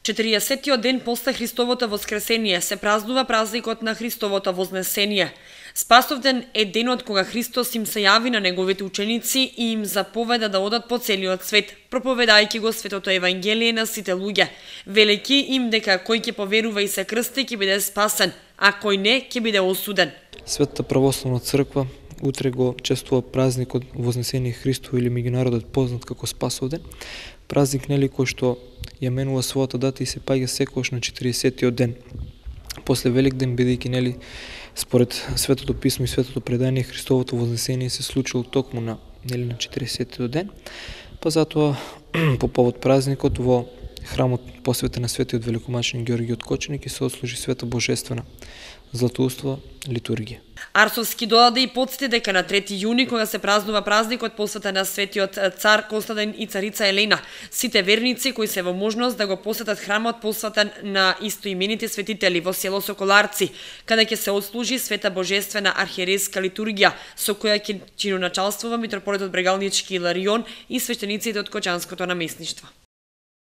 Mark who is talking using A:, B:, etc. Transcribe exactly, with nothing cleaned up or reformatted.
A: четириесеттиот ден после Христовото воскресение се празнува празникот на Христовото вознесение. Спасовден е денот кога Христос им се јави на неговите ученици и им заповеда да одат по целиот свет, проповедајќи го светото евангелие на сите луѓе, велејќи им дека кој ќе поверува и се крсти ќе биде спасен, а кој не ќе биде осуден.
B: Светата православна црква утре го чествува празникот Вознесение Христово или меѓународот познат како Спасовден. Празник нели кој што ја менува својата дата и се паѓа секогаш на четириесеттиот ден. После Великден, бидејќи нели според Светото писмо и Светото предание Христовото вознесение се случило токму на нели на четириесеттиот ден, па затоа по повод празникот во храмот посветен на светиот великомаченик Ѓорѓи од Коченик и се отслужи света божествена златоуствова литургија.
A: Арсовски додаде и потсети дека на трети јуни, кога се празнува празникот посветен на светиот цар Константин и царица Елена, сите верници кои се во можност да го посетат храмот посветен на истоимените светители во село Соколарци, каде ќе се отслужи света божествена архиерейска литургија, со која ќе чиноначалствува митрополитот Брегалнички Иларион и свештениците од Кочанското наместништво.